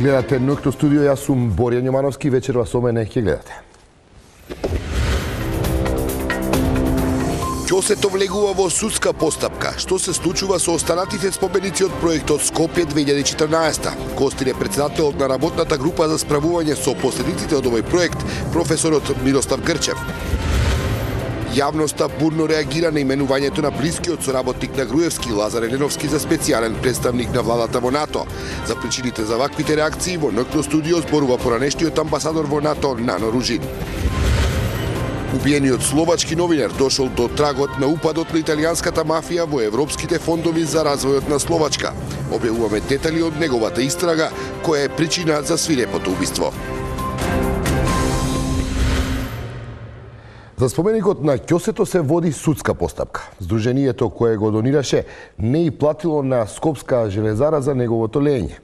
Гледате Ноќно студио, јас сум Боријан Јомановски, вечерва со мене ќе гледате. Ќосето влегува во судска постапка. Што се случува со останатите споменици од проектот Скопје 2014? Гостин е председателот на работната група за справување со последиците од овој проект, професорот Мирослав Грчев. Јавноста бурно реагира на именувањето на блискиот соработник на Груевски, Лазар Еленовски, за специјален представник на владата во НАТО. За причините за ваквите реакции во Ноќно студио зборува поранешниот амбасадор во НАТО Нано Ружин. Убиениот словачки новинар дошол до трагот на упадот на италијанската мафија во европските фондови за развојот на Словачка. Објавуваме детали од неговата истрага, која е причина за свирепото убиство. За споменикот на ќосето се води судска постапка. Сдруженијето кое го донираше не и платило на Скопска железара за неговото лење.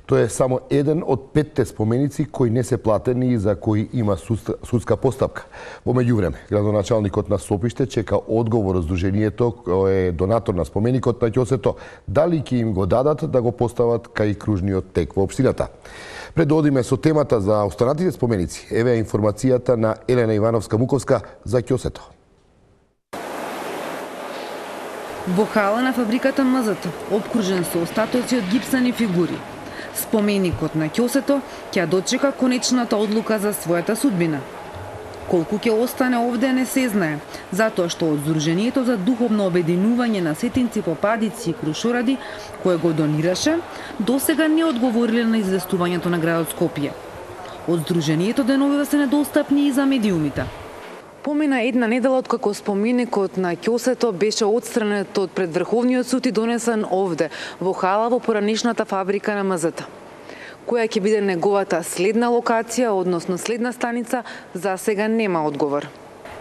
Тој е само еден од 5 споменици кои не се платени и за кои има судска постапка. Во меѓувреме, градоначалникот на Сопиште чека одговор од сдруженијето кој е донатор на споменикот на ќосето, дали ќе им го дадат да го постават кај кружниот тек во општината. Пред да одиме со темата за останатите споменици, еве информацијата на Елена Ивановска-Муковска за ќосето. Во хала на фабриката МЗТ, обкружен со остатоци од гипсани фигури, споменикот на ќосето ќе дочека конечната одлука за својата судбина. Колку ќе остане овде не се знае, затоа што од Сдруженијето за духовно обединување на сетинци по падици и крушоради, кое го донираше, досега не одговориле на известувањето на градот Скопје. Од Сдруженијето деновива се недостапни и за медиумите. Помина една недела откако споменикот на ќосето беше отстранет од пред Врховниот суд и донесен овде, во хала во поранешната фабрика на МЗТ. Која ќе биде неговата следна локација, односно следна станица, за сега нема одговор.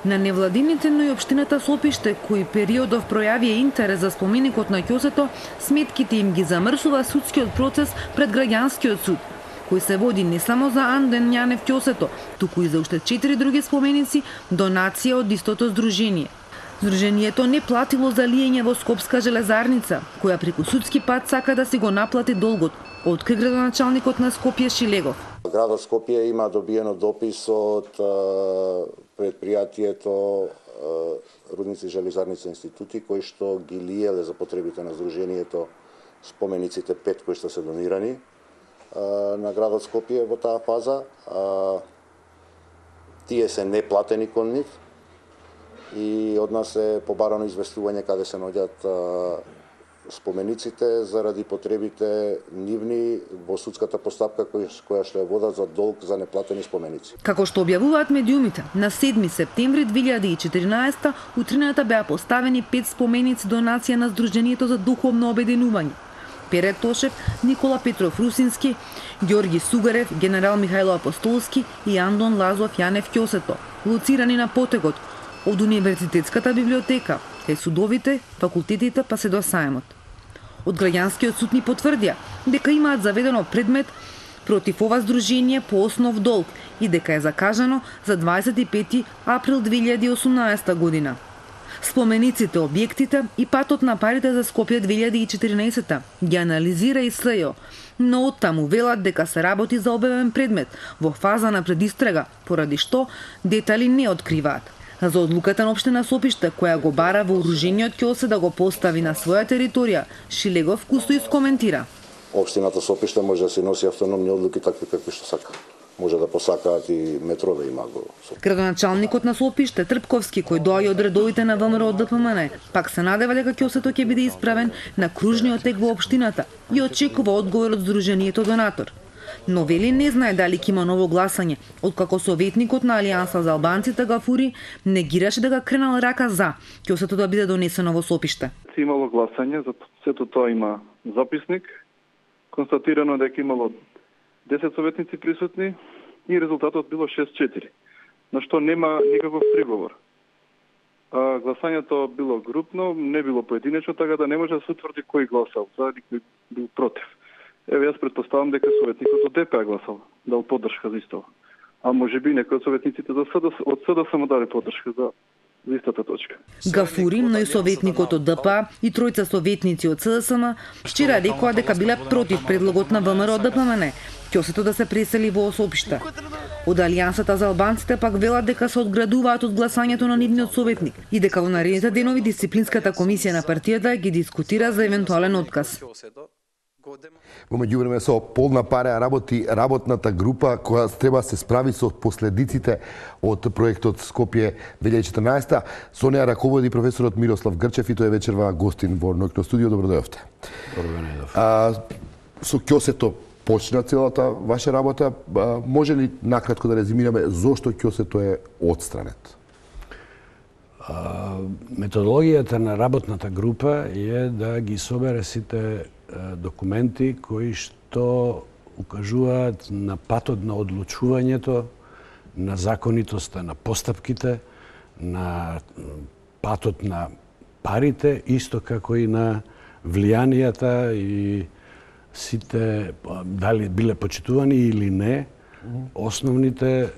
На невладините, но и општината Сопиште, кои периодов пројавија интерес за споменикот на ќосето, сметките им ги замрсува судскиот процес пред граѓанскиот суд, кој се води не само за Анден Њанев ќосето, туку и за уште 4 други споменици, донација од истото сдружение. Сдруженијето не платило за лиење во Скопска железарница, која преку судски пат сака да си го наплати долгот, откри градоначалникот на Скопје Шилегов. Градот Скопје има добиено допис од предпријатието Рудници железарници институти, кои што ги лиеле за потребите на Сдруженијето спомениците 5 кои што се донирани на градот Скопје во таа фаза. Тие се неплатени кон нив и од нас е побарано известување каде се наоѓаат спомениците заради потребите нивни во судската постапка која што ја водат за долг за неплатени споменици. Како што објавуваат медиумите, на 7 септември 2014 утрината беа поставени 5 споменици донација на Сдруженијето за духовно обединување. Пере Тошев, Никола Петров Русински, Ѓорги Сугарев, генерал Михајло Апостолски и Андон Лазов Јанев ќосето, лоцирани на потегот од Универзитетската библиотека, кај судовите, факултетите па се до Саемот. Од граѓанскиот суд ни потврдија дека имаат заведено предмет против ова сдружение по основ долг и дека е закажано за 25 април 2018 година. Спомениците, објектите и патот на парите за Скопје 2014 ги анализира и СЈО, но оттаму велат дека се работи за објавен предмет во фаза на предистрага, поради што детали не откриваат. За одлуката на општина Сопиште, која го бара вооружениот ќосе да го постави на своја територија, Шилегов кусто искоментира. Општината Сопиште може да се носи автономни одлуки такви какви што сака. Може да посакаат и метрове има го. Градоначалникот на Сопиште Трпковски, кој доаѓа од редовите на ВМРО од ДПМН, пак се надева дека ќосето ќе биде исправен на кружниот тек во општината и очекува одговор од Сдруженијето донатор. Но вели не знае дали ќе има ново гласање, откако советникот на Алијанса за албанците Гафури негираше дека кренал рака за ќосето да биде донесено во Сопиште. Имало гласање, за сето тоа има записник, констатирано дека имало 10 советници присутни и резултатот било 6-4, на што нема никаков приговор. Гласањето било групно, не било поединечно, така да не може да се утврди кој гласал за и кој бил против. Еве јас претпоставам дека советникот од ДП гласал, дал поддршка за исто. А можеби некои од советниците од СДС му дали поддршка за за истата точка. Гафури, но и советникот од ДПА и тројца советници од СДСМ вчера рекоа дека биле против предлогот на ВМРО ДПМН ќосето да се пресели во Осопиште. Од Алијансата за албанците пак велат дека се одградуваат од гласањето на нивниот советник и дека во наредните денови дисциплинската комисија на партијата ги дискутира за евентуален отказ. Во меѓувреме со полна пара работи работната група која треба да се справи со последиците од проектот Скопје 2014. Со неа раководи професорот Мирослав Грчев и тој вечерва гостин во ноќно студио. Добро дојдовте. Добро дојдов. Со ќосето почна целата ваша работа. Може ли накратко да резимираме зошто ќосето е отстранет? Методологијата на работната група е да ги собере сите документи кои што укажуваат на патот на одлучувањето, на законитоста на постапките, на патот на парите, исто како и на влијанијата и сите, дали биле почитувани или не, основните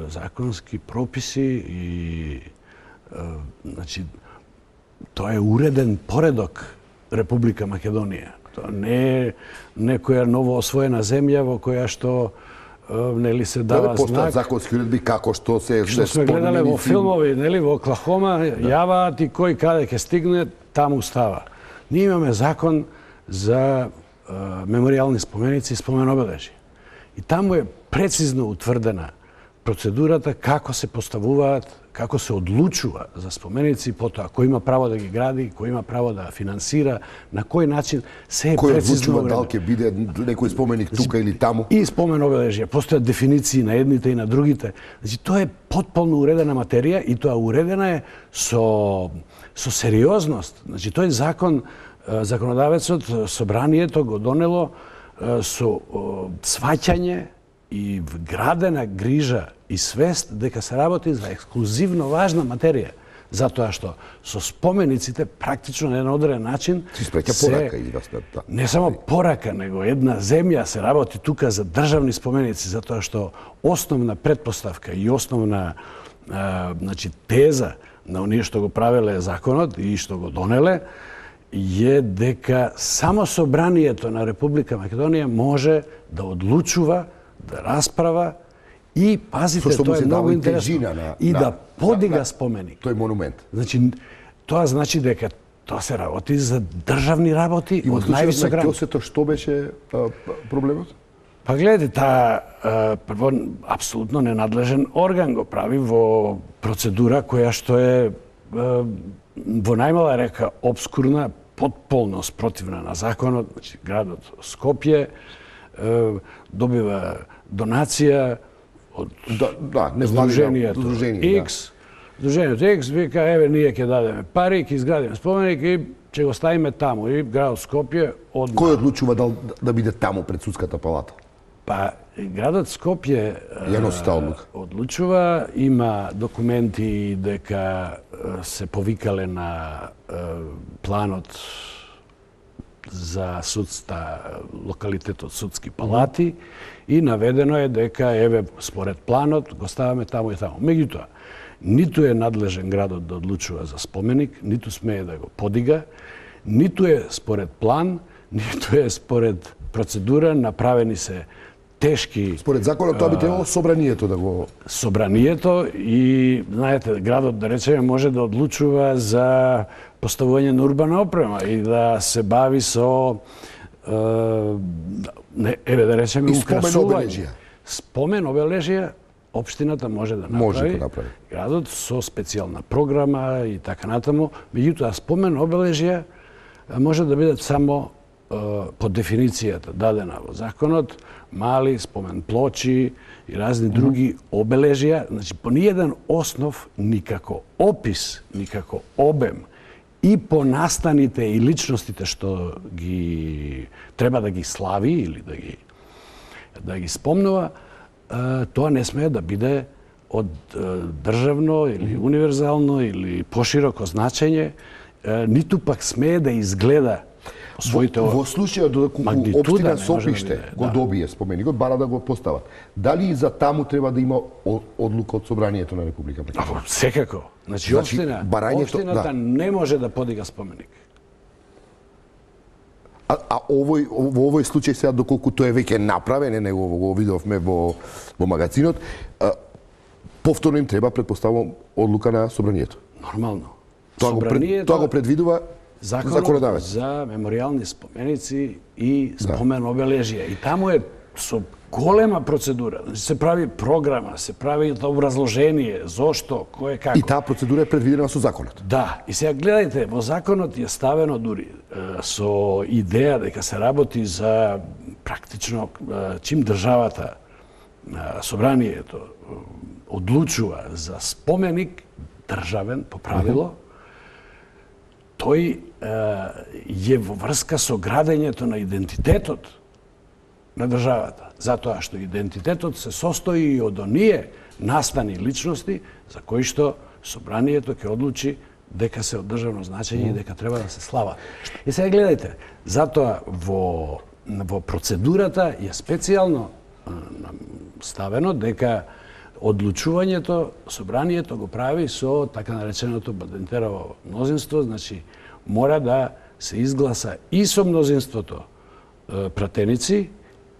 законски прописи и значи, тоа е уреден поредок Република Македонија. Тоа не е некоја ново освоена земја во која што нели се дава знак. Законски уредби како што се сме гледале во филмови, нели во Оклахома, јаваат и кој каде ќе стигне, таму става. Ние имаме закон за меморијални споменици и спомен обележи. И таму е прецизно утврдена процедурата како се поставуваат, како се одлучува за споменици, потоа кој има право да ги гради, кој има право да финансира, на кој начин се е прецизно одлучува дали ќе биде некој споменик тука или таму. И спомен обележја, постојат дефиниции на едните и на другите. Значи тоа е потполно уредена материја и тоа уредена е со сериозност. Значи тој закон законодавецот, собранието го донело со сваќање и вградена грижа и свест дека се работи за ексклузивно важна материја, затоа што со спомениците практично на еден одреден начин не само порака, него една земја се работи тука за државни споменици, затоа што основна претпоставка и основна значи теза на оние што го правеле законот и што го донеле е дека само собранието на Република Македонија може да одлучува, да расправа и, пазите, тоа е многу интересно, и да подига споменик. Тој монумент. Значи, тоа значи дека тоа се работи за државни работи од највисок ранг. И во случајот на што беше проблемот? Па гледате, таа прво апсолутно ненадлежен орган го прави во процедура која што е во најмала река обскурна, потполно спротивна на законот. Значи, градот Скопје добива донација од Сдруженијето X. Сдруженијето X вика, еве, ние ќе дадеме пари, ќе изградиме споменик и ќе го ставиме таму. И градот Скопје одма. Кој одлучува да биде таму пред судската палата? Па, градот Скопје одлучува, има документи дека се повикале на планот за судста, локалитетот судски палати и наведено е дека, еве, според планот, го ставаме таму и таму. Меѓутоа, ниту е надлежен градот да одлучува за споменик, ниту смее да го подига, ниту е според план, ниту е според процедура, направени се тешки... Според законот тоа би требало собранието да го... Собранието и, знаете, градот, да речеме, може да одлучува за поставување на урбана опрема и да се бави со, еве, да речеме, украсување. Спомен обележија, општината може да направи. Градот со специјална програма и така натаму. Меѓутоа, спомен обележија може да бидат само по дефиницијата дадена во законот, мали спомен плочи и разни други обележија, значи по ниеден основ, никако опис, никако обем и по настаните и личностите што ги треба да ги слави или да ги спомнува, тоа не смее да биде од државно или универзално или пошироко значење, ниту пак смее да изгледа Во случајот додека општина Сопиште го добие споменикот, бара да го постават. Дали и за таму треба да има одлука од Собранието на Република Македонија? Секако. Значи општината не може да подига споменик. Во овој случај сега, доколку тој е веќе направен, него го видовме во магазинот, повторно им треба, предпоставувам, одлука на Собранието. Нормално. Тоа го предвидува законодавец за мемориални споменици и спомен обележија. И таму е со голема процедура. Значи се прави програма, се прави образложение, зошто, кој како. И таа процедура е предвидена со законот. Да, и сега гледајте, во законот е ставено дури со идеја дека се работи за практично чим државата, Собранието одлучува за споменик државен по правило, тој е во врска со градењето на идентитетот на државата. Затоа што идентитетот се состои од оние настани личности за кои што Собранието ќе одлучи дека се од државно значење и дека треба да се слава. И сега гледајте, затоа во процедурата е специјално ставено дека одлучувањето Собранието го прави со така нареченото Бадентерово мнозинство, значи мора да се изгласа и со мнозинството пратеници,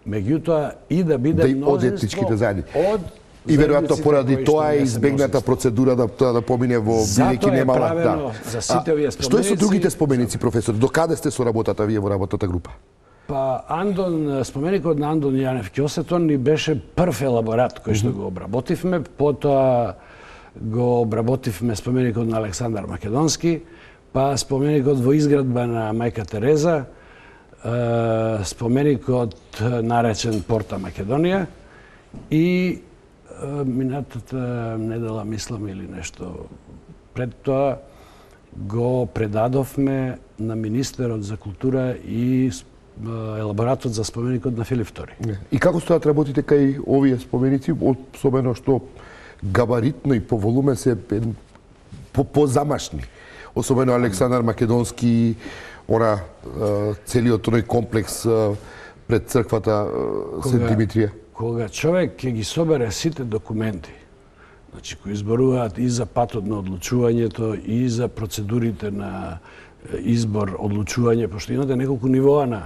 меѓутоа и да биде мнозинство од и веројатно поради тоа е избегната процедура да помине во бидејќи немала. За сите овие споменици. Што е со другите споменици, професор? До каде сте со работата вие во работната група? Па споменикот на Андон Јанев Ќосетон ни беше прв елаборат кој што го обработивме, потоа го обработивме споменикот на Александар Македонски, па споменикот во изградба на Мајка Тереза, споменикот наречен Порта Македонија и минатата недела, мислам, или нешто пред тоа го предадовме на министерот за култура и елаборатот за споменикот на Филип II. И како стојат работите кај овие споменици, особено што габаритно и по волуме се позамашни? Особено Александар Македонски, целиот тој комплекс пред црквата Сент Димитрија. Кога човек ќе ги собере сите документи, значи кои изборуваат и за патот на одлучувањето, и за процедурите на избор, одлучување, пошто имате неколку нивоа на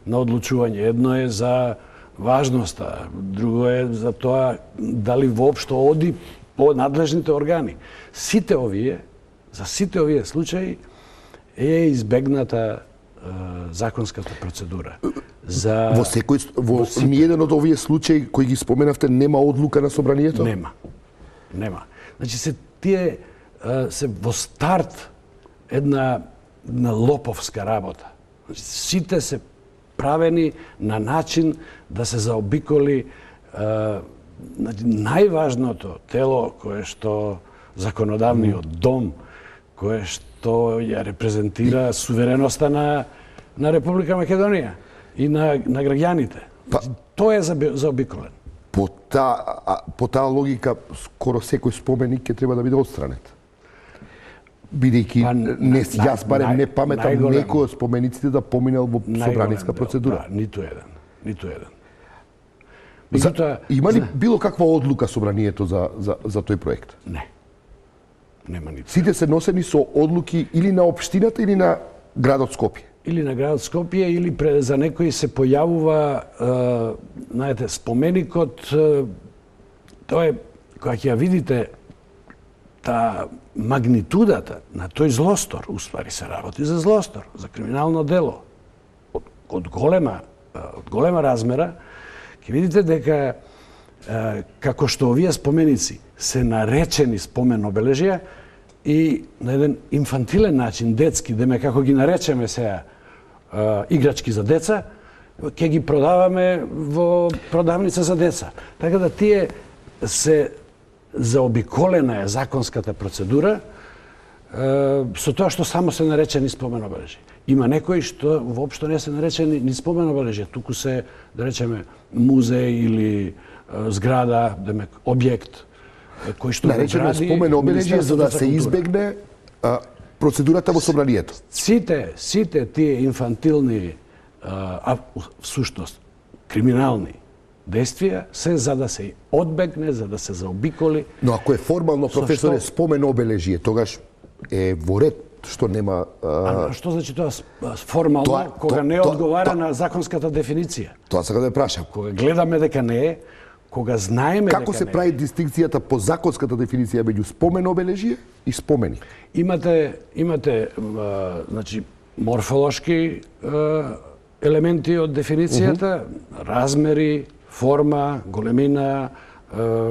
одлучување. Едно е за важноста, друго е за тоа дали воопшто оди по надлежните органи. За сите овие случаи е избегната законската процедура. Во ниеден од овие случаи кои ги споменавте нема одлука на Собранието? Нема. Значи се во старт една лоповска работа. Значи, сите се правени на начин да се заобиколи најважното тело кое што законодавниот дом, кое што ја репрезентира сувереноста на Република Македонија и на граѓаните. Тоа е заобиколен. По таа логика, скоро секој споменик ќе треба да биде отстранет. Бидејќи јас барем не паметам некој од спомениците да поминал во собраниска процедура. Ниту еден. Има ли било каква одлука Собранието за тој проект? Не. Нема ниту. Сите се носени со одлуки или на општината или на градот Скопје? Или на градот Скопје, или за некој се појавува, знаете, споменикот, тоа е, кога ќе ја видите, та магнитудата на тој злостор, уствари се работи за злостор, за криминално дело, од голема размера, ќе видите дека како што овие споменици се наречени спомен обележија и на еден инфантилен начин, детски, деме како ги наречеме сега играчки за деца, ќе ги продаваме во продавница за деца. Така да тие се заобиколена е законската процедура со тоа што само се наречени спомен обележја. Има некои што воопшто не се наречени ни спомен обележја, туку се, да речеме, музеј или зграда, објект кој што наречено спомен обележје за да се избегне процедурата во собранието. Сите тие инфантилни, всушност, криминални действија се за да се одбегне, за да се заобиколи. Но ако е формално, професоре, спомен обележие, тогаш е во ред што нема... Што значи тоа формално, кога не одговара на законската дефиниција? Тоа сакам да прашам. Кога гледаме дека не е, кога знаеме дека не е. Како се прави дистинкцијата по законската дефиниција меѓу спомен обележие и спомени? Имате значи, морфолошки елементи од дефиницијата, размери, форма, големина,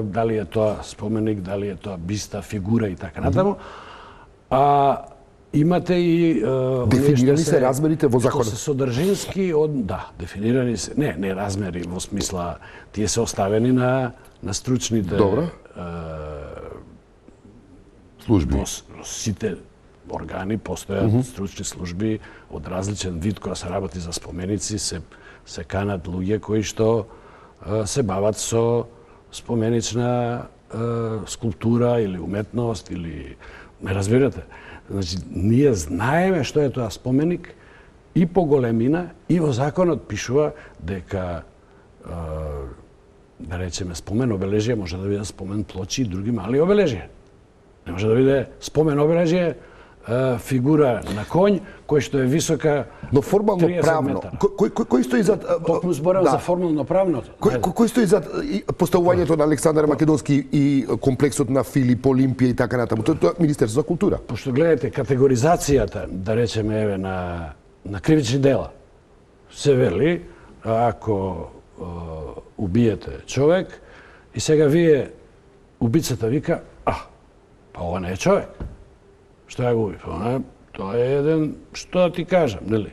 дали е тоа споменик, дали е тоа биста, фигура и така натаму. А имате и дефинирани се размерите во законот. Што се содржински дефинирани се. Не размери во смисла тие се оставени на стручните служби. Сите органи постојат стручни служби од различен вид кога се работи за споменици, се канат луѓе кои што се бават со споменична скулптура или уметност или ме разбирате. Значи, ние знаеме што е тоа споменик и по големина, и во законот пишува дека да речеме спомен обележие може да биде спомен плочи и други мали обележија. Не може да биде спомен обележие фигура на конј кој што е висока 30 метра. Но формално правно, кој стои зад... Токму зборам за формално правното. Кој стои зад поставувањето на Александар Македонски и комплексот на Филип, Олимпија и така натаму? Тоа е Министерство за култура. Пошто гледате категоризацијата, да речеме еве на кривични дела, се вели ако убиете човек и сега вие убицата вика, па ова не е човек. Што ја го уби? Тоа е еден, што да ти кажам, нели?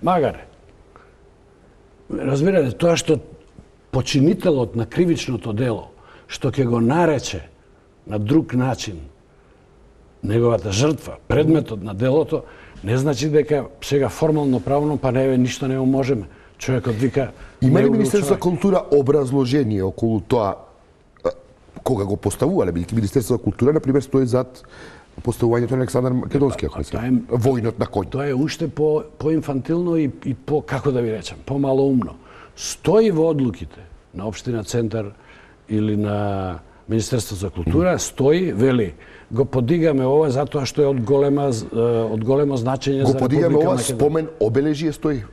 Магаре. Разбирате, тоа што починителот на кривичното дело, што ќе го нарече на друг начин неговата жртва, предметот на делото, не значи дека сега формално правно па ништо не можеме. Човекот вика... Има ли Министерство за култура образложение околу тоа кога го поставувале? Бидејќи Министерство за култура, например, стои зад поставувањето на Александар Македонски, ако не се војнот на коњ. Тоа е уште по-инфантилно и по, како да ви речем, по-малоумно. Стои во одлуките на Општина Центар или на Министерство за култура, стои, вели, го подигаме ова затоа што е од големо значење за Република Македонија. Го подигаме ова, спомен обележие стои.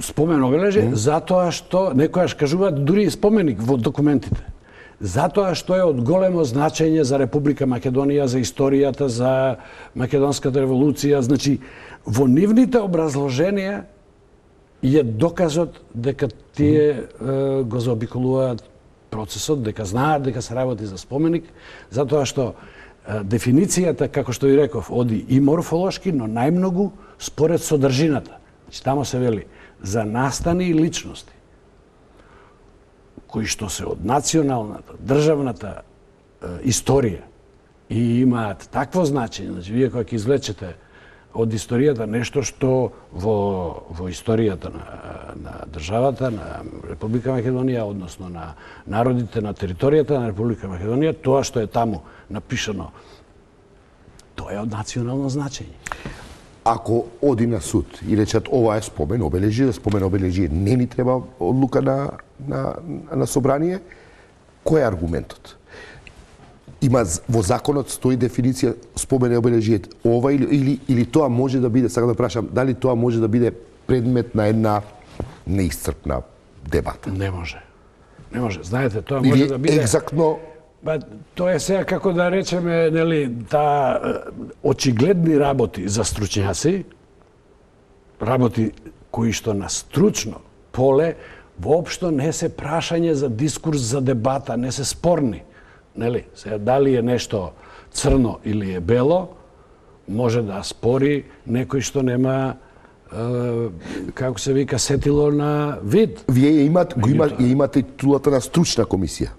Спомен обележие, затоа што, некојаш кажуваат, дури и споменик во документите. Затоа што е од големо значење за Република Македонија, за историјата, за Македонската револуција. Значи, во нивните образложенија е доказот дека тие го заобиколуваат процесот, дека знаат дека се работи за споменик, затоа што дефиницијата, како што ви реков, оди и морфолошки, но најмногу според содржината. Значи, тамо се вели за настани и личности кои што се од националната, државната историја и имаат такво значење. Значи, вие кога ќе извлечете од историјата нешто што во историјата на државата, на Република Македонија, односно на народите на територијата на Република Македонија, тоа што е таму напишано, тоа е од национално значење. Ако оди на суд и речат ова е спомен обележие, не ни треба одлука на собрание, кој е аргументот? Има во законот стои дефиниција спомен обележие ова или тоа може да биде, сакам да прашам, дали тоа може да биде предмет на една неисцрпна дебата? Не може. Не може. Знаете, тоа може да биде екзактно. Тоа е сега како да речеме, нели, очигледни работи за стручњаци, работи кои што на стручно поле воопшто не се прашање за дискурс, за дебата, не се спорни. Нели, сега дали е нешто црно или е бело, може да спори некој што нема како се вика сетило на вид. Вие имате титулата на стручна комисија.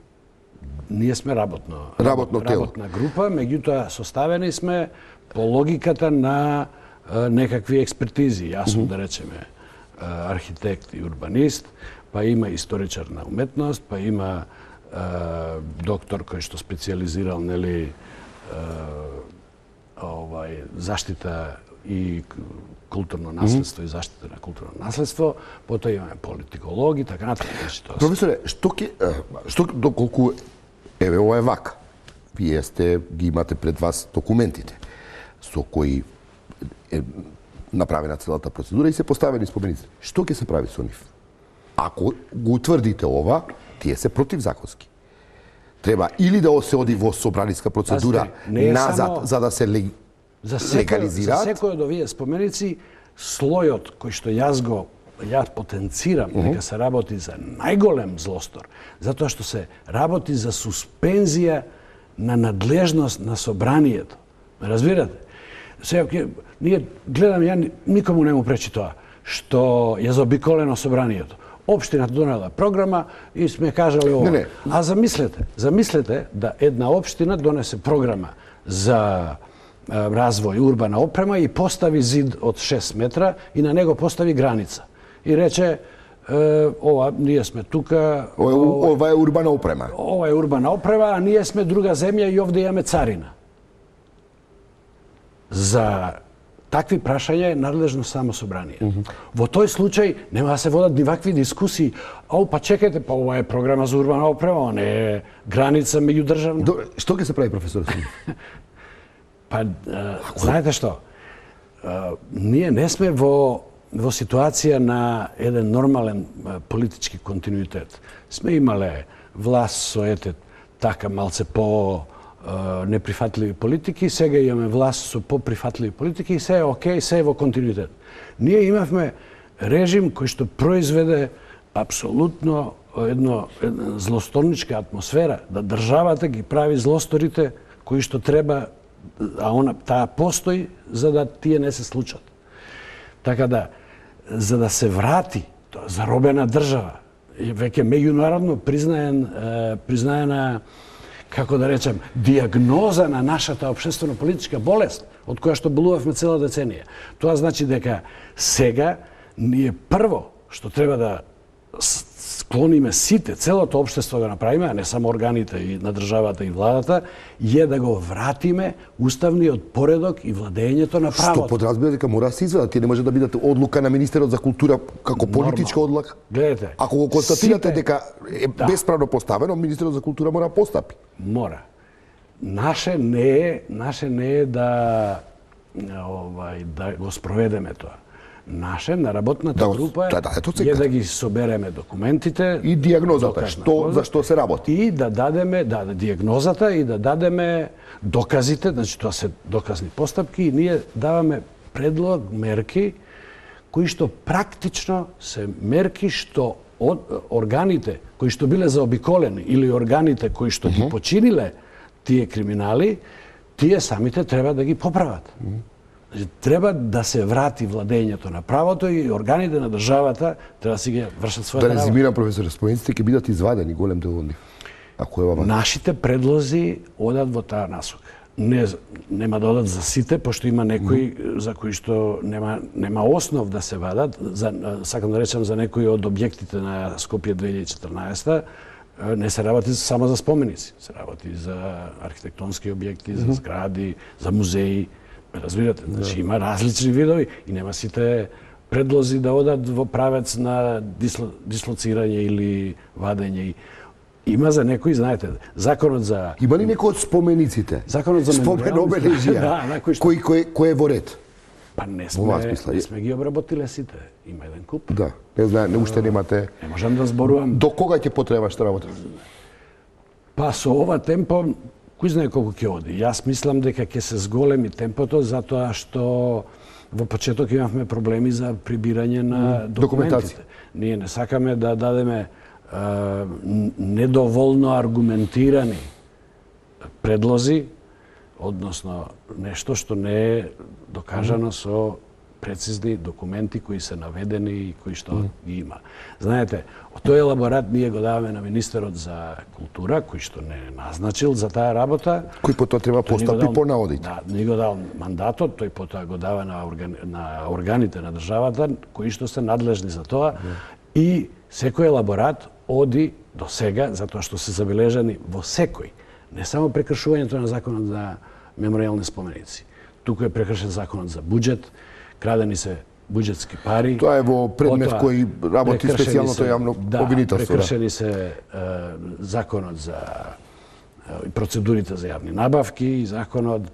Ние сме работна група, меѓутоа составени сме по логиката на некакви експертизи. Јас сум, да речеме, архитект и урбанист, па има историчар на уметност, па има доктор кој што специализирал, нели, заштита и културно наследство и заштита на културно наследство, потоа имаме политикологи, така натаму. Професоре, доколку еве ова е вака. Вие ги имате пред вас документите со кои е направена целата процедура и се поставени споменици. Што ќе се прави со нив? Ако го утврдите ова, тие се противзаконски. Треба или да се оди во собраниска процедура назад, за да се легализираат. За секој од овие споменици, слојот кој што јас потенцирам дека се работи за најголем злостор, затоа што се работи за суспензија на надлежност на собранието. Разбирате? Сега, ние гледам, ја никому не му пречи тоа, што е заобиколено собранието. Општината донела програма и сме кажали ова. Не. А замислете да една општина донесе програма за развој урбана опрема и постави зид од 6 метра и на него постави граница. И рече, ова, ние сме тука... Ова е урбана опрема. Ова е урбана опрема, а ние сме друга земја и овде имаме царина. За такви прашања е надлежно само собрание. Во тој случај нема да се водат ни вакви дискусии. Па чекајте, па ова е програма за урбана опрема, не е граница меѓудржавна. Што ќе се прави, професор? Па, знаете што? Ние не сме во ситуација на еден нормален политички континуитет. Сме имале власт со така малце по неприфатливи политики, сега имаме власт со поприфатливи политики и се е окей, се е во континуитет. Ние имавме режим кој што произведе апсолутно една злосторничка атмосфера, да државата ги прави злосторите кои што треба, а таа постои за да тие не се случат. Така да, за да се врати тоа заробена држава, веќе меѓународно признаена, како да речем, диагноза на нашата општествено-политичка болест, од која што болувавме цела деценија. Тоа значи дека сега ние прво што треба да склониме сите, целото општество да направиме, а не само органите и на државата и владата, е да го вратиме уставниот поредок и владењето на правото. Што подразбира дека мора да се изведат, тие не може да бидат одлука на министерот за култура како политичка одлука. Гледате. Ако го констатирате дека е бесправно поставено, министерот за култура мора да постапи. Мора. Наше не е да го спроведеме тоа. Наше на работната група е да ги собереме документите и диагнозата, за што се работи. И да дадеме диагнозата и да дадеме доказите, значи тоа се доказни постапки и ние даваме предлог, мерки кои што практично се мерки што органите кои што биле заобиколени или органите кои што ги починиле тие криминали, тие самите треба да ги поправат. Треба да се врати владењето на правото и органите на државата треба да си ги вршат својата работа. Да резимирам, професор, спомениците ќе бидат извадени голем дел од нив. Ако е ова. Нашите предлози одат во таа насока. Нема да одат за сите, пошто има некои за кои што нема основ да се вадат. Сакам да речем за некои од објектите на Скопје 2014 не се работи само за споменици, се работи за архитектонски објекти, за згради, за музеи. Разбирате, значи има различни видови и нема сите предлози да одат во правец на дислоцирање или вадење. Има за некои, знаете, законот за... Има ли некој од спомениците? Законот за спомен-обележја, кој е во ред? Па не сме ги обработиле сите. Има еден куп. Да, не знае, уште немате... Не можам да зборувам... До кога ќе потребаш да работиш? Па со ова темпо, кој знае колку ќе оди. Јас мислам дека ќе се зголеми темпото, затоа што во почеток имавме проблеми за прибирање на документите. Ние не сакаме да дадеме недоволно аргументирани предлози, односно нешто што не е докажано со прецизни документи кои се наведени и кои што ги има. Знаете, тој елаборат ние го даваме на министерот за култура, кој што не е назначил за таа работа. Кој потоа треба постапи по наодите. Да, не го дал мандатот, тој потоа го дава на органите на државата, кои што се надлежни за тоа. И секој елаборат оди до сега, затоа што се забележани во секој, не само прекршувањето на законот за меморијални споменици, туку е прекршен законот за буџет, крадени се буџетски пари. Тоа е во предмет кој работи специјалното јавно обвинителство. Прекршени се законот за процедурите за јавни набавки,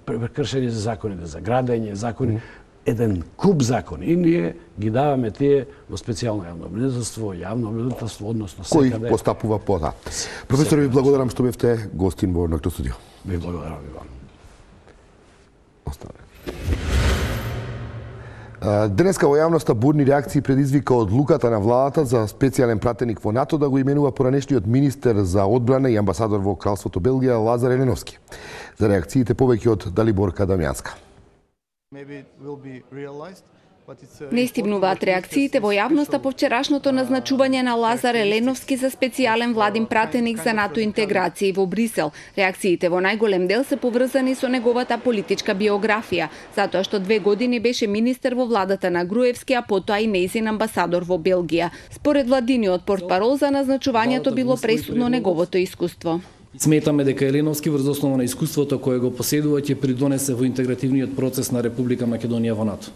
прекршени се законите за градење, закони, еден куп закони. И ние ги даваме тие во специјално јавно обвинителство, односно секаде. Кој постапува по-натаму. Професор, ви благодарам што бевте гостин во Ноќното студио. Ви благодарам и вам. Денеска во јавноста бурни реакции предизвика одлуката на владата за специјален пратеник во НАТО да го именува поранешниот министер за одбрана и амбасадор во Кралството Белгија Лазар Еленовски. За реакциите повеќе од Далиборка Дамјанска. Не стигнуваат реакциите во јавноста по вчерашното назначување на Лазар Еленовски за специјален владин пратеник за НАТО интеграција во Брисел. Реакциите во најголем дел се поврзани со неговата политичка биографија, затоа што 2 години беше министер во владата на Груевски, а потоа и нејзин амбасадор во Белгија. Според владиниот портпарол за назначувањето било пресудно неговото искуство. Сметаме дека Еленовски врз основа на искуството кое го поседува ќе придонесе во интегративниот процес на Република Македонија во НАТО.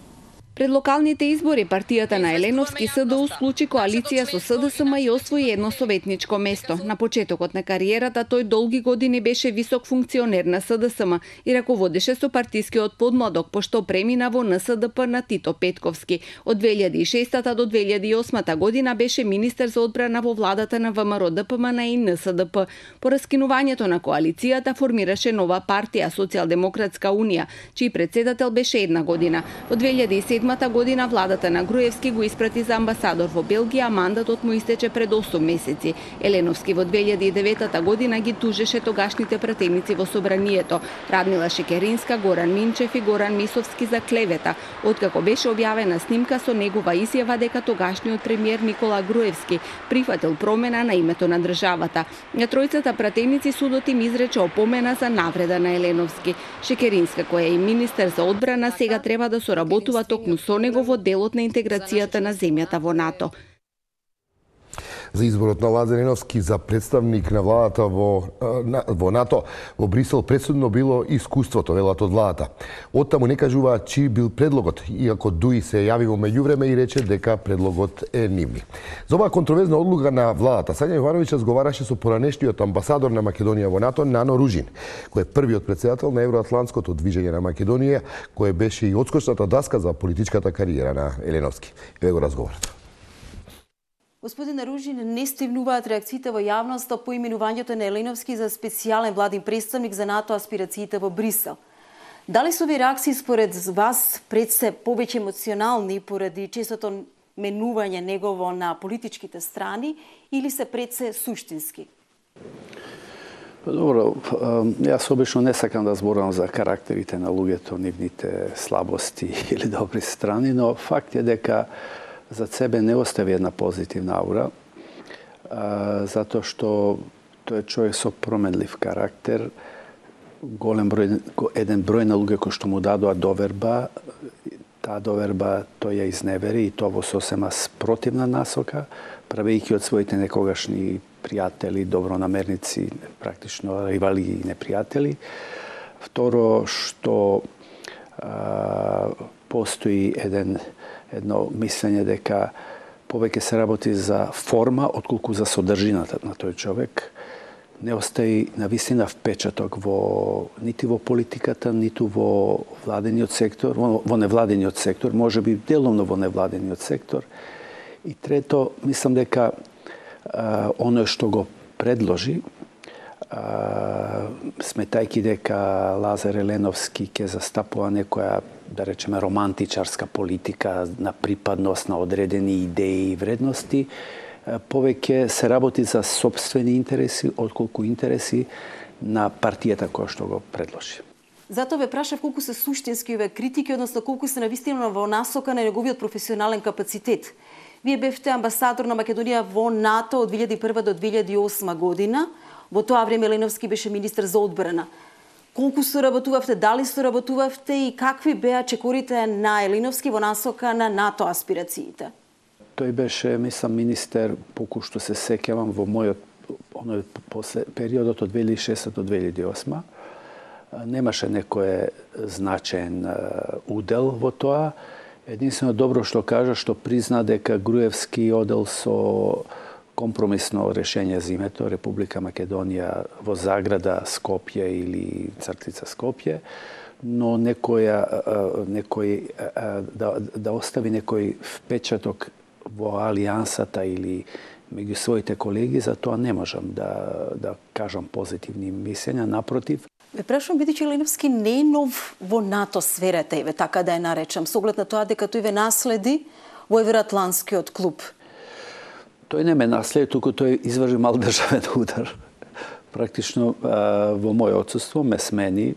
Пред локалните избори партијата на Еленовски СДУ склучи коалиција со СДСМ и освои едно советничко место. На почетокот на кариерата тој долги години беше висок функционер на СДСМ и раководеше со партискиот подмладок, пошто премина во НСДП на Тито Петковски. Од 2006 до 2008 година беше министер за одбрана во владата на ВМРО ДПМН и НСДП. По раскинувањето на коалицијата формираше нова партија Социјалдемократска унија, чиј председател беше 1 година. Во 2007 година владата на Груевски го испрати за амбасадор во Белгија, а мандатот му истече пред 8 месеци. Еленовски во 2009 година ги тужеше тогашните пратеници во собранието, Радмила Шекеринска, Горан Минчев и Горан Мисовски за клевета, откако беше објавена снимка со негова изјава дека тогашниот премиер Никола Груевски прифатил промена на името на државата. На тројцата пратеници судот им изрече опомена за навреда на Еленовски. Шекеринска, која е и министер за одбрана, сега треба да соработува токму со него во делот на интеграцијата на земјата во НАТО. За изборот на Лазар Еленовски за представник на владата во НАТО во Брисел пресудно било искуството, велат од владата. Оттаму не кажуваат чиј бил предлогот, иако Дуи се јави во меѓувреме и рече дека предлогот е нивни. За оваа контроверзна одлука на владата, Сања Јовановиќ разговараше со поранешниот амбасадор на Македонија во НАТО, Нано Ружин, кој е првиот председател на Евроатлантското движење на Македонија, кој беше и одскочната даска за политичката кариера на Еленовски. Еве го разговорот. Господин Ружин, не стигнуваат реакциите во јавноста по именувањето на Еленовски за специјален владин представник за НАТО аспирациите во Брисел. Дали се овие реакции според вас пред се повеќе емоционални поради честото менување негово на политичките страни или се пред се суштински? Добро, јас обично не сакам да зборам за карактерите на луѓето, нивните слабости или добри страни, но факт е дека за себе не остави една позитивна аура, затоа што тој е човек со променлив карактер, еден број на луѓе кои што му дадоа доверба, таа доверба тој ја изневери и тоа во сосема спротивна насока, правејќи од своите некогашни пријатели, добронамерници, практично ривали и непријатели. Второ, што постои едно мислење дека повеќе се работи за форма отколку за содржината на тој човек. Не остави навистина впечаток нити во политиката, ниту во владениот сектор, во невладениот сектор, можеби деломно во невладениот сектор. И трето, мислам дека оно што го предложи, сметајќи дека Лазар Еленовски ќе застапува некоја, да речеме, романтичарска политика на припадност на одредени идеи и вредности, повеќе се работи за сопствени интереси, отколку интереси на партијата која што го предложи. Затоа ве прашав колку се суштински овие критики, односно колку се навистина во насока на неговиот професионален капацитет. Вие бевте амбасадор на Македонија во НАТО од 2001 до 2008 година. Во тоа време Еленовски беше министер за одбрана. Колку соработувавте, дали соработувавте и какви беа чекорите на Еленовски во насока на НАТО аспирациите? Тој беше, мислам, министер, поку што се сеќавам, во мојот периодот од 2006 до 2008. немаше некој значаен удел во тоа. Единствено добро што кажа, што призна дека Груевски одел со компромисно решение за името Република Македонија во заграда Скопје или цртица Скопје, но да остави некој впечаток во алијансата или меѓу своите колеги, за тоа не можам да кажам позитивни мислења, напротив. Ве прашувам, бидејќи Еленовски не е нов во НАТО сферата, еве така да ја наречам, со оглед на тоа дека тој ве наследи во Евроатлантскиот клуб. Тој не ме наследи, туку тој изврши мал државен удар. Практично во моје отсуство ме смени.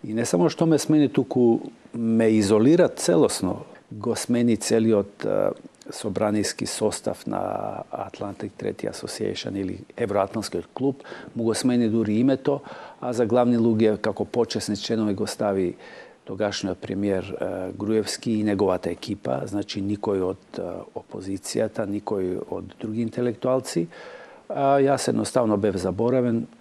И не само што ме смени, туку ме изолира целосно. Го смени целиот собраниски состав на Atlantic Treaty Association или Евроатлантскиот клуб, му го смени дури името, а за главни луѓе како почесни членови го стави тогашниот премиер Груевски и неговата екипа, значи никој од опозицијата, никој од други интелектуалци. Јас едноставно бев заборавен,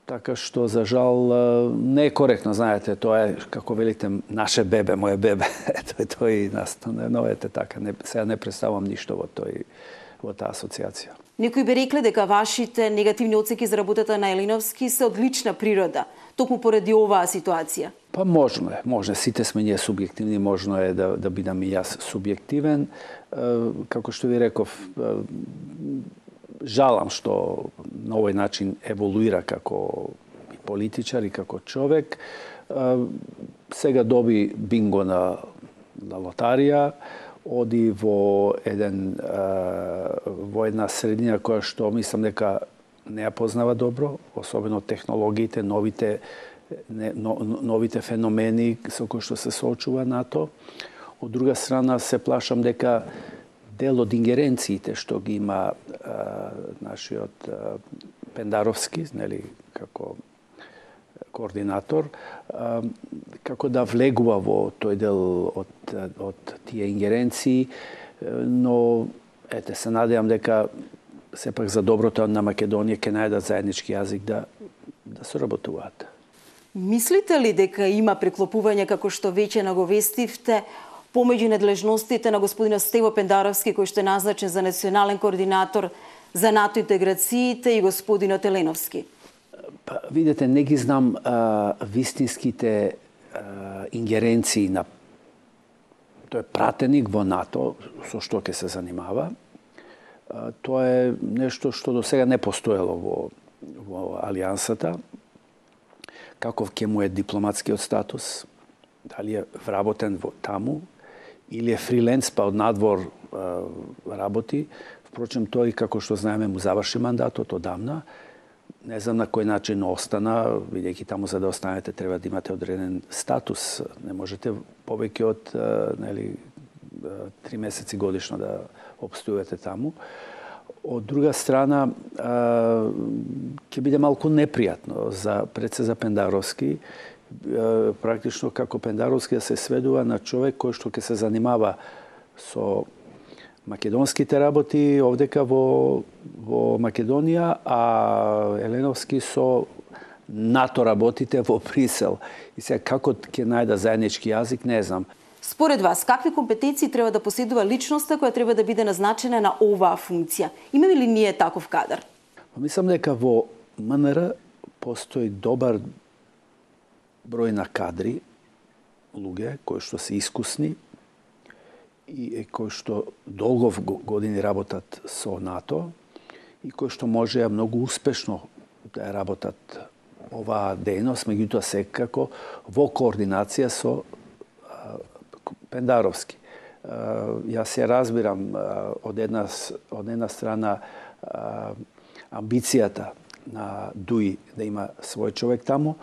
така што за жал не е коректно, знаете, тоа е како велите наше бебе, моје бебе. Тој настане, но ете така, сега не представам ништо во таа асоциација. Некои би рекле дека вашите негативни оценки за работата на Еленовски се од лична природа, токму поради оваа ситуација. Па можно е, сите сме ние субјективни, можно е да бидам и јас субјективен. Како што ви реков, жалам што на овој начин еволуира како политичар и како човек. Сега доби бинго на лотарија, оди во една средина која што мислам дека не ја познава добро, особено технологиите, новите феномени со кои што се соочува НАТО. Од друга страна се плашам дека дел од ингеренциите што ги има нашиот Пендаровски, нели, како координатор, како да влегува во тој дел од тие ингеренции, но ете се надевам дека сепак за доброто на Македонија ќе најдат заеднички јазик да соработуваат. Мислите ли дека има преклопување, како што веќе наговестивте, помеѓу надлежностите на господина Стево Пендаровски, кој што е назначен за национален координатор за НАТО интеграциите, и господинот Еленовски? Па, видите, не ги знам вистинските ингеренции на тој пратеник во НАТО, со што ќе се занимава. Тоа е нешто што до сега не постоело во алијансата. Каков ќе му е дипломатскиот статус? Дали е вработен таму? Или е фриленс, па од надвор работи? Впрочем, тој, како што знаеме, му заврши мандатот одамна. Не знам на кој начин остана, бидејќи таму за да останете треба да имате одреден статус. Не можете повеќе од 3 месеци годишно да обстојувате таму. Од друга страна, ќе биде малку непријатно пред се за Пендаровски, практично како Пендаровски да се сведува на човек кој што ќе се занимава со македонските работи овдека во Македонија, а Еленовски со НАТО работите во Брисел. И сега како ќе најда заеднички јазик, не знам. Според вас, какви компетенции треба да поседува личноста која треба да биде назначена на оваа функција? Имаме ли ние таков кадар? Мислам дека во МНР постои добар број на кадри, луѓе кои што се искусни и кои што долго години работат со НАТО и кои што можеа многу успешно да работат оваа дејност, меѓутоа секако во координација со Пендаровски. Јас се разбирам од една страна амбицијата на Дуи да има свој човек таму,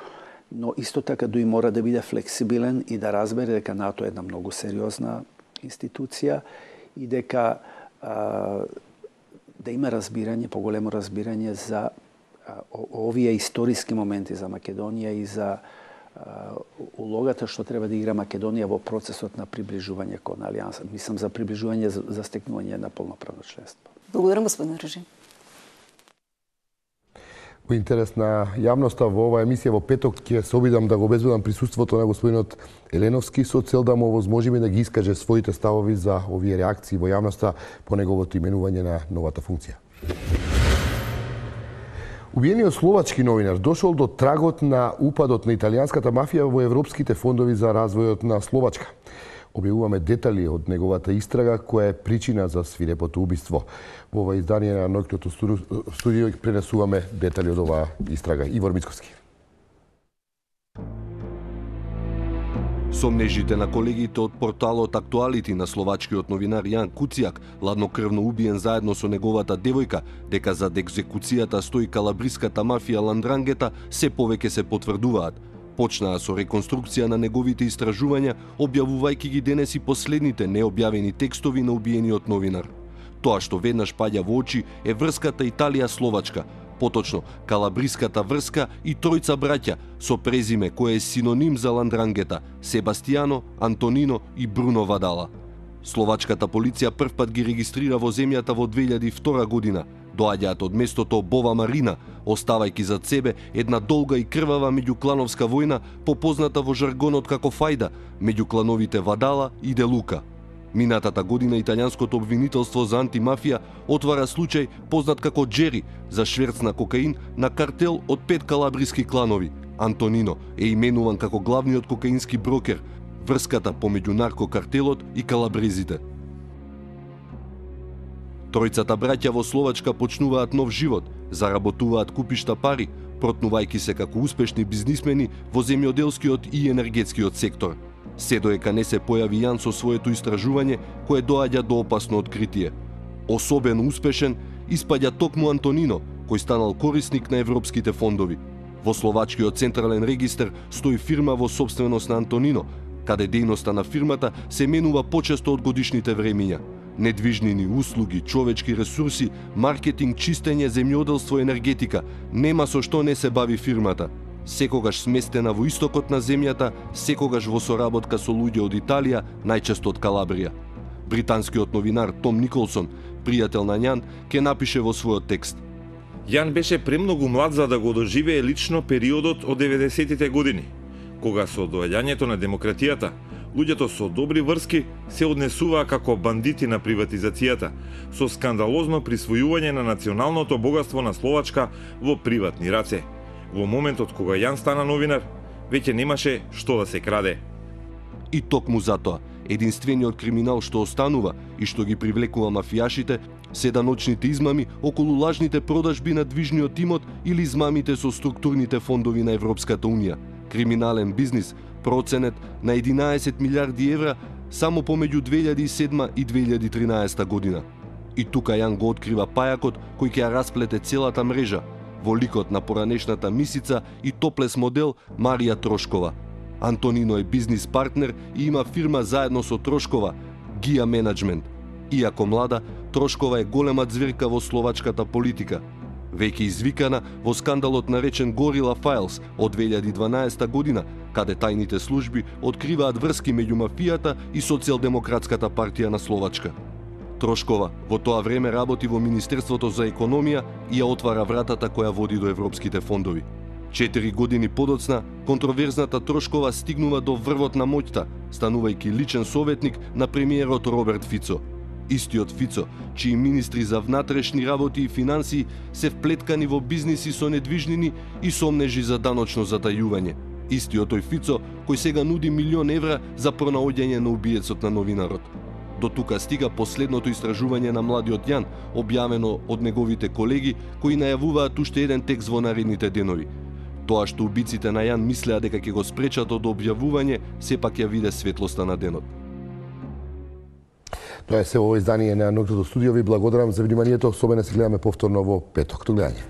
но исто така Дуи мора да биде флексибилен и да разбере дека НАТО е една многу сериозна институција и дека да има разбирање, поголемо разбирање за овие историски моменти за Македонија и за улогата што треба да игра Македонија во процесот на приближување кон Алијанса. Мислам за приближување за стекнување на полноправно членство. Благодарам, господин Режим. Во интерес на јавноста во оваа емисија во петок ќе се обидам да го обезбедам присуството на господинот Еленовски со цел да му овозможиме да ги искаже своите ставови за овие реакции во јавноста по неговото именување на новата функција. Убиениот словачки новинар дошол до трагот на упадот на италијанската мафија во европските фондови за развојот на Словачка. Објавуваме детали од неговата истрага која е причина за свирепото убиство. Во ова издание на Ноќното студио пренесуваме детали од оваа истрага. Ивор Мицковски. Сомнежите на колегите од порталот Актуалити на словачкиот новинар Јан Куцијак, ладнокрвно убиен заедно со неговата девојка, дека зад екзекуцијата стои калабриската мафија Ландрангета, се повеќе се потврдуваат. Почнаа со реконструкција на неговите истражувања, објавувајќи ги денес и последните необјавени текстови на убиениот новинар. Тоа што веднаш паѓа во очи е врската Италија-Словачка, поточно калабриската врска и тројца браќа со презиме кое е синоним за Ландрангета – Себастијано, Антонино и Бруно Вадала. Словачката полиција првпат ги регистрира во земјата во 2002 година. Доаѓаат од местото Бова Марина, оставајќи зад себе една долга и крвава меѓуклановска војна, попозната во жаргонот како фајда, меѓу клановите Вадала и Делука. Минатата година италијанското обвинителство за антимафија отвара случај познат како Джери за шверц на кокаин на картел од 5 калабриски кланови. Антонино е именуван како главниот кокаински брокер, врската помеѓу наркокартелот и калабрезите. Тројцата браќа во Словачка почнуваат нов живот, заработуваат купишта пари, протнувајќи се како успешни бизнисмени во земјоделскиот и енергетскиот сектор. Се доека не се појави Јан со своето истражување, кое доаѓа до опасно откритие. Особено успешен испаѓа токму Антонино, кој станал корисник на европските фондови. Во Словачкиот централен регистар стои фирма во собственост на Антонино, каде дејноста на фирмата се менува почесто од годишните времиња. Недвижнини, услуги, човечки ресурси, маркетинг, чистење, земјоделство, енергетика. Нема со што не се бави фирмата. Секогаш сместена во истокот на земјата, секогаш во соработка со луѓе од Италија, најчесто од Калабрија. Британскиот новинар Том Николсон, пријател на Јан, ке напише во својот текст: Јан беше премногу млад за да го доживее лично периодот од 90-тите години, кога со доаѓањето на демократијата, луѓето со добри врски се однесуваа како бандити на приватизацијата, со скандалозно присвојување на националното богатство на Словачка во приватни раце. Во моментот кога Јан стана новинар, веќе немаше што да се краде. И токму затоа, единствениот криминал што останува и што ги привлекува мафијашите се даночните измами околу лажните продажби на движниот имот или измамите со структурните фондови на Европската Унија. Криминален бизнис проценет на 11 милиарди евра само помеѓу 2007 и 2013 година. И тука Јан го открива пајакот кој ќе ја расплете целата мрежа во ликот на поранешната мисица и топлес модел Марија Трошкова. Антонино е бизнис партнер и има фирма заедно со Трошкова, Гија Менеджмент. Иако млада, Трошкова е голема ѕверка во словачката политика. Веќе извикана во скандалот наречен Горила Files од 2012 година, каде тајните служби откриваат врски меѓу мафијата и Социјалдемократската партија на Словачка. Трошкова во тоа време работи во Министерството за економија и ја отвара вратата која води до европските фондови. 4 години подоцна, контроверзната Трошкова стигнува до врвот на моќта, станувајќи личен советник на премиерот Роберт Фицо. Истиот Фицо, чии министри за внатрешни работи и финансии се вплеткани во бизниси со недвижнини и сомнежи за даночно затајување. Истиот тој Фицо, кој сега нуди 1 милион евра за пронаоѓање на убиецот на новинарот. До тука стига последното истражување на младиот Јан, објавено од неговите колеги, кои најавуваат уште еден текст во наредните денови. Тоа што убиците на Јан мислеа дека ќе го спречат од објавување, сепак ја виде светлоста на денот. Тоа е се во издание на Ноќното студио. Ви благодарам за вниманието. Со мене се гледаме повторно во петок. До гледање.